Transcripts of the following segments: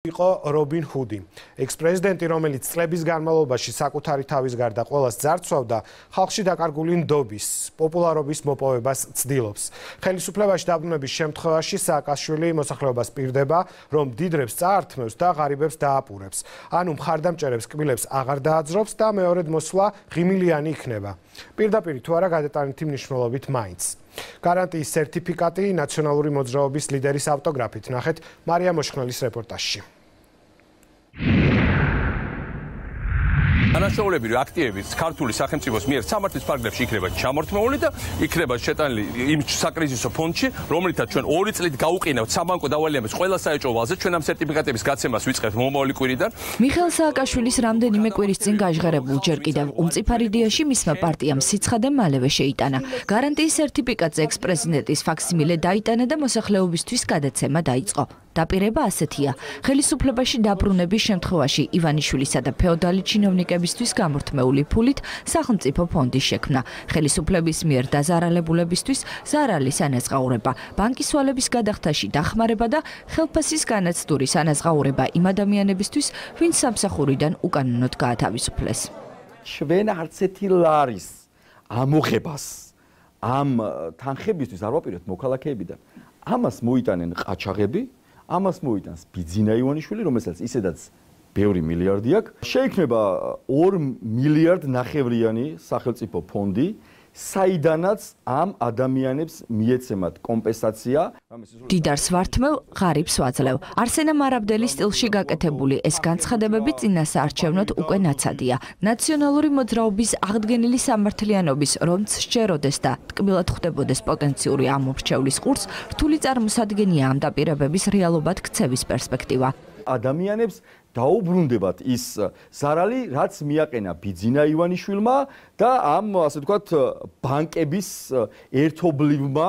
იყო რობინ ჰუდი. ექს-პრეზიდენტი, რომელიც წლების განმავლობაში საკუთარი თავის გარდა ყველას ძარცვავდა, ხალხში დაკარგული ნდობის, პოპულარობის მოპოვებას ცდილობს. ხელისუფლებაში დაბრუნების შემთხვევაში სააკაშვილი მოსახლეობას პირდება, რომ დიდრებს წაართმევს და ღარიბებს დააპურებს. ანუ მხარდამჭერებს კბილებს აღარ დააძრობს და მეორედ მოსვლა ღიმილიანი იქნება. პირდაპირ თუ არა გადატანითი მნიშვნელობით მაინც. გარანტიის სერტიფიკატი ნაციონალური მოძრაობის ლიდერის ავტოგრაფით ნახეთ მარია მოშხნელის რეპორტაჟში. Ანაშაულები აქტივები ქართული სახელმწიფოს მიერ სამართლის ფარგლებში იქნება ჩამორთმეული და იქნება შეტანილი იმ საკრიზისო ფონდში, რომლითაც ჩვენ 2 წლით გაუყინავთ საბანკო დავალებების ყველა საეჭვო ვალზე, ჩვენ ამ სერტიფიკატების გაცემას ვიწყებთ მომავალი კვირიდან. მიხეილ სააკაშვილის რამდენიმე კვირის წინ გაჟღერებულ ჯერ კიდევ უმწიფარ იდეაში მისმა პარტიამ სიცხადე მალევე შეიტანა. გარანტიის სერტიფიკატზე ექს-პრეზიდენტის ფაქსიმილე დაიტანა და მოსახლეობისთვის გადაცემა დაიწყო. დაპირება ასეთია. ხელისუფლებაში დაბრუნების შემთხვევაში ივანიშვილისა და ფეოდალი ჩინოვნიკებისთვის გამორთმეული ფულით სახელმწიფო ფონდის შექმნა. ხელისუფლების მიერ დაზარალებულებისთვის ზარალის ანაზღაურება, ბანკის ვალების გადახდაში დახმარება და ხელფასის განაცდურის ანაზღაურება იმ ადამიანებისთვის, ვინც სამსახურიდან უკანონოდ გაათავისუფლეს. ჩვენ არც ერთი ლარის ამოღებას ამ თანხებისთვის არ ვაპირებთ მოქალაქეებიდან. ამას მოიტანენ ყაჩაღები, ამას მოიტანს ბიძინა ივანიშვილი, რომელსაც ისედაც ბევრი მილიარდი აქვს. შეიქმნება 2 მილიარდ ნახევრიანი სახელმწიფო ფონდი, საიდანაც ამ ადამიანებს მიეცემათ კომპენსაცია. დიდარს ვართმევ, ღარიბს ვაძლევ. არსენა მარაბდელის სტილში გაკეთებული ეს განცხადებები წინასაარჩევნოდ უკვე ნაცადია. ნაციონალური მოძრაობის აღდგენილი სამართლიანობის რომც სჯეროდეს და ტკბილად ხვდებოდეს პოტენციური ამომრჩევლის ყურს, რთული წარმოსადგენია ამ დაპირებების რეალობად ქცევის პერსპექტივა. ადამიანებს დაუბრუნდებათ ის ზარალი, რაც მიაყენა ბიძინა ივანიშვილმა და ამ ასე ვთქვათ ბანკების ერთობლივმა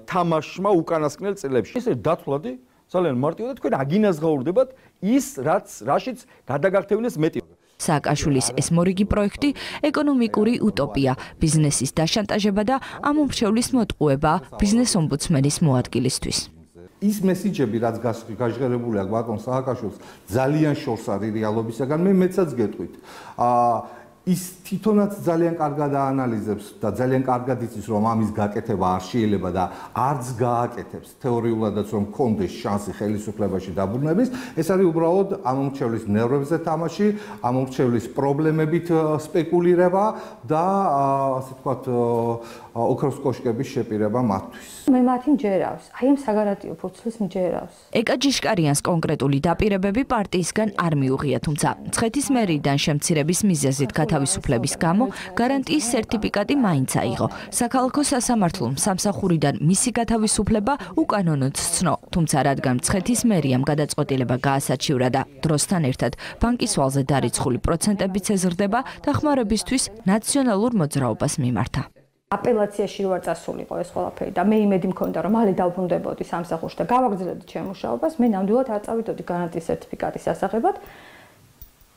თამაშმა უკანასკნელ წლებში. ეს დათვლადი ძალიან მარტივია და თქვენ აგინაზღაურდებათ ის, რაშიც გადაგაქთევნეს მეტი. სააკაშვილის ეს მორიგი პროექტი ეკონომიკური utopia, ბიზნესის დაშანტაჟება და ამომრჩევლის მოტყუება ბიზნეს ომბუდსმენის მოადგილისთვის. ის მესიჯები, რაც გაჟღერებული აქვს ბატონ სააკაშვილს, ძალიან შორს არის რეალობისაგან. მე მეცაც გეტყვით. ის თვითონაც ძალიან კარგად აანალიზებს და ძალიან კარგად იცის, რომ ამის გაკეთება არ შეიძლება და არც გააკეთებს თეორიულადაც, რომ კონდეს შანსი ხელისუფლებაში დაბრუნების. ეს არის უბრალოდ ამომრჩევლის ნერვებზე თამაში, ამომრჩევლის პრობლემებით სპეკულირება და ასე ვთქვათ ოქროს კოშკების შეპირება მათთვის. მე მათი მჯერავს, აი ამ საგარანტიო ფურცლის მჯერავს. ეკა ჯიშკარიანს კონკრეტული დაპირებები პარტიისგან არ მიუღია, თუმცა მცხეთის მერიდან შემცირების მიზეზით თავისუფლების გამო გარანტიის სერტიფიკატი მაინც აიღო. საქალაქო სასამართლომ სამსახურიდან მისი გათავისუფლება უკანონოდ სცნო, თუმცა რადგან მცხეთის მერიამ გადაწყვეტილება გაასაჩივრა და დროსთან ერთად ბანკის ვალზე დარიცხული პროცენტებიც ეზრდება, დახმარებისთვის ნაციონალურ მოძრაობას მიმართა. აპელაციაში რო არ წასულიყო ეს ყველაფერი და მე იმედი მქონდა, რომ მალე დავბრუნდებოდი სამსახურში და გავაგრძელებდი ჩემ მუშაობას, მე ნამდვილად არ წავიდოდი გარანტიის სერტიფიკატის ასაღებად.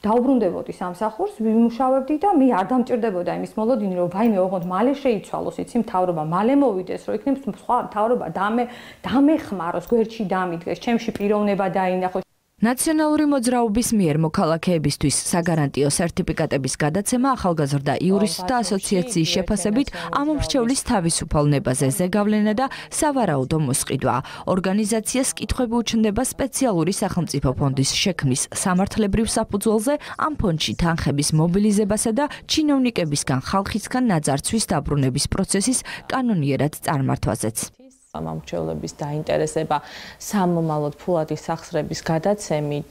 დავბრუნდებოდი სამსახურს, ვიმუშავებდი და მე არ დამჭირდებოდა იმის მოლოდინი, რომ ვაიმე ოღონდ მალე შეიცვალოს, იცი მთავრობა მალე მოვიდეს, რომ იქნებ სხვა მთავრობა დამეხმაროს, გვერდში დამიდგეს, ჩემში პიროვნება დაინახოს. ნაციონალური მოძრაობის მიერ მოქალაქეებისთვის საგარანტიო სერტიფიკატების გადაცემა ახალგაზრდა იურისტთა ასოციაციის შეფასებით ამომრჩევლის თავისუფალ ნებაზე ზეგავლენა და სავარაუდო მოსყიდვა. ორგანიზაციას კითხვები უჩნდება სპეციალური სახელმწიფო ფონდის შექმნის სამართლებრივ საფუძველზე, ამ ფონდში თანხების მომბილიზებასა და ჩინოვნიკებისგან ხალხისგან ნაძარცვის დაბრუნების პროცესის კანონიერად წარმართვაზეც. ამომრჩევლების დაინტერესება სამომავლოდ ფულადი სახსრების გადაცემით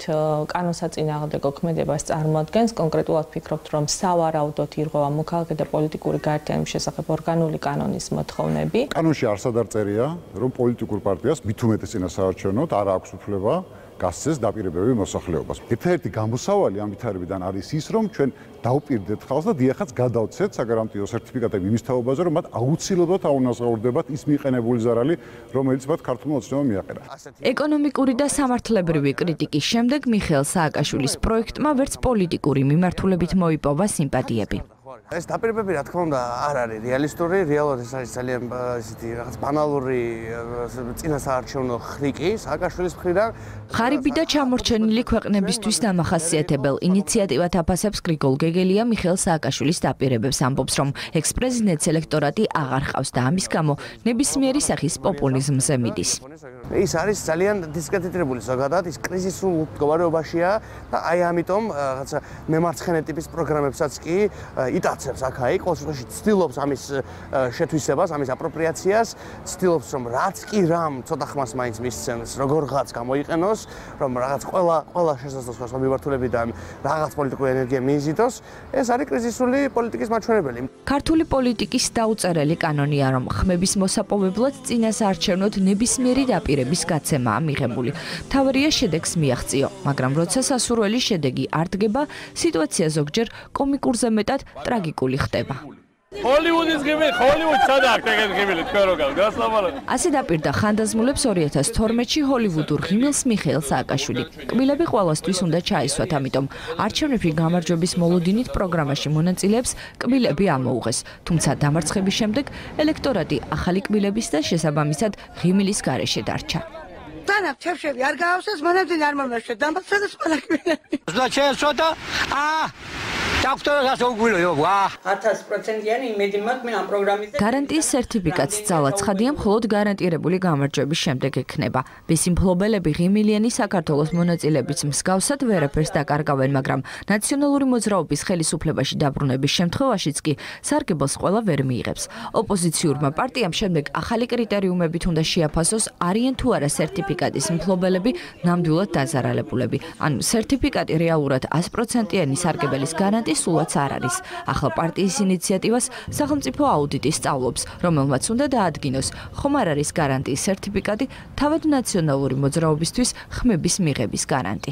კანონსაწინააღმდეგო ქმედებას წარმოადგენს. კონკრეტულად ფიქრობთ, რომ სავარაუდოდ ირღვევა მოქალაქე და პოლიტიკური გაერთიანების შესახებ ორგანული კანონის მოთხოვნები. კანონში არსად არ წერია, რომ პოლიტიკურ პარტიას მით უმეტეს წინასაარჩევნოდ არ აქვს უფლება გასცეს დაპირებები მოსახლეობას. ერთადერთი გამოსავალი ამ ვითარებიდან არის ის, რომ ჩვენ დავპირდეთ ხალხს და დიახაც გადავცეთ საგარანტიო სერტიფიკატები იმის თაობაზე, რომ მათ აუცილებლად აუნაზღაურდებათ ის მიყენებული ზარალი, რომელიც მათ ქართულმა ოცნებამ მიაყენა. ეკონომიკური და სამართლებრივი კრიტიკის შემდეგ მიხეილ სააკაშვილის პროექტმა ვერც პოლიტიკური მიმართულებით მოიპოვა სიმპათიები. ეს დაპირებები რა თქმა უნდა არ არის რეალისტური, რეალურად ეს არის ძალიან ისეთი რაღაც ბანალური წინასაარჩევნო ხრიკი სააკაშვილის მხრიდან. ღარიბი და ჩამორჩენილი ქვეყნებისთვის დამახასიათებელ ინიციატივად აფასებს გრიგოლ გეგელია მიხეილ სააკაშვილის დაპირებებს, ამბობს, რომ ექს-პრეზიდენტს ელექტორატი აღარ ყავს და ამის გამო ნებისმიერი სახის პოპულიზმზე მიდის. ის არის ძალიან დისკრედიტირებული ზოგადად, ის კრიზისულ მდგომარეობაშია და აი ამიტომ რაღაცა მემარცხენე ტიპის პროგრამებსაც კი იტაცებს აქ-აიქ, ყოველ შემთხვევაში ცდილობს ამის შეთვისებას, ამის აპროპრიაციას, ცდილობს რომ რაც კი რამ ცოტა ხმას მაინც მისცემს, როგორღაც გამოიყენოს, რომ რაღაც ყველა შესაძლოს მიმართულებიდან რაღაც პოლიტიკური ენერგია მიიზიდოს, ეს არის კრიზისული პოლიტიკის მაჩვენებელი. ქართული პოლიტიკის დაუწერელი კანონია, რომ ხმების მოსაპოვებლად წინასაარჩევნოდ ნებისმიერი დაპირების გაცემაა მიღებული. მთავარია შედეგს მიაღწიო, მაგრამ როცა სასურველი შედეგი არ დგება, სიტუაცია ზოგჯერ კომიკურზე მეტად ტრაგიკული ხდება. ჰოლივუდის ღიმილი, ჰოლივუდს სადა აქვს ეგეთ ღიმილი, თქვენ რო გავთ, გასლამალად. ასე დაპირდა ხანდაზმულებს 2012-ში ჰოლივუდურ ღიმილს მიხეილ სააკაშვილი. კბილები ყველასთვის უნდა ჩაისვათ, ამიტომ არჩევნებში გამარჯვების მოლოდინით პროგრამაში მონაწილეებს კბილები ამოუღეს. თუმცა დამარცხების შემდეგ ელექტორატი ახალი კბილების და შესაბამისად ღიმილის გარეშე დარჩა. თანაც ჩევშები არ გაავსეს, მანამდე არ მომნაშე დამარცხეს ყველა კბილები. ზოგადად შეესვათა, დოქტორას უგვილო, 1000%-იანი იმედი მაქვს მე ამ პროგრამაზე. გარანტიის სერტიფიკატს ძალა ცხადია მხოლოდ გარანტირებული გამარჯვების შემდეგ ექნება. ბესიმფლობელები ღიმილიანი საქართველოს მონაწილეების მსგავსად ვერაფერს დაკარგავენ, მაგრამ ნაციონალური მოძრაობის ხელისუფლებაში დაბრუნების შემთხვევაშიც კი სარგებელს ყველა ვერ მიიღებს. ოპოზიციურმა პარტიამ შემდეგ ახალი კრიტერიუმებით უნდა შეაფასოს, არიან თუ არა სერტიფიკატის მფლობელები ნამდვილად დაზარალებულები. ანუ სერტიფიკატი რეალურად 100%-იანი სარგებელის გარანტია სულაც არ არის. ახლა პარტიის ინიციატივას სახელმწიფო აუდიტი სწავლობს, რომელმაც უნდა დაადგინოს, ხომ არ არის გარანტიის სერტიფიკატი თავად ნაციონალური მოძრაობისთვის ხმების მიღების გარანტი.